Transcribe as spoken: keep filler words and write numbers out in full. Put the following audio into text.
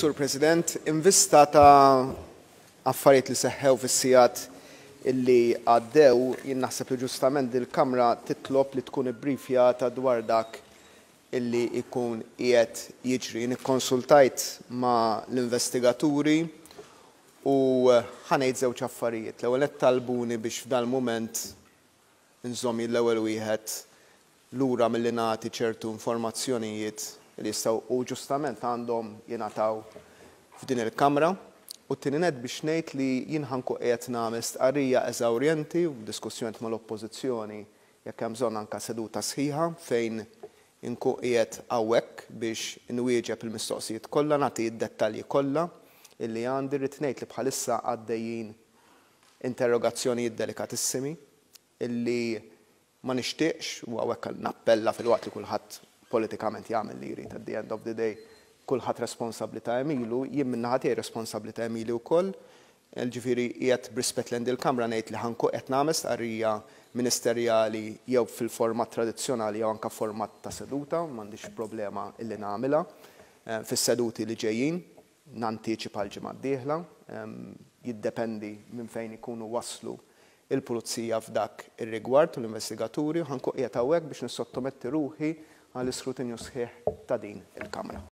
Sur President. In vista ta' affarijiet li seħħew fis-sigħat illi għaddew, jien naħseb li ġustament dil-Kamra titlob li tkun ibbrifjata dwar dak illi jkun qiegħed jiġri. Jien ikkonsultajt ma' l-investigaturi u ħa ngħid żewġ affarijiet. L-ewwel qed talbuni biex f'dal-mument nżomm l-ewwel wieħed lura milli nagħti ċertu informazzjonijiet li jistgħu u ġustament għandhom jingħataw f'din il-Kamra. U t-tieni nett biex ngħid li jien ħa nkun qiegħed nagħmel stqarrija eżawrjenti u diskussjoni mal-Oppożizzjoni, jekk hemm bżonn anke seduta sħiħa, fejn inkun qiegħed hawnhekk biex nwieġeb il-mistoqsijiet kollha, nagħti d-dettalji kollha illi għandi. Rrid ngħid li bħalissa għaddejjin interrogazzjonijiet delikatissimi illi ma nixtieqx, u hawnhekk nappella, filwaqt li kulħadd politikament jagħmel li jrid, at the end of the day kulħadd responsabbli ta' għemilu, jien min-naħa tiegħi responsabbli ta' għemili wkoll. Ġifieri qiegħed b'rispett lejn il-Kamra ngħid li ħa nkun qed nagħmel stqarrija ministerjali jew fil-format tradizzjonali jew anke format ta' seduta, m'għandix problema illi nagħmilha eh, fis-seduti li ġejjin, nantiċipa l-ġimgħa d-dieħla, jiddependi minn fejn ikunu waslu il-pulizija f'dak ir-rigward u l-investigaturi, ħa nkun qiegħed hawnhekk biex nissottometti ruħi għall-iskrutinju sħiħ ta' din il-Kamra.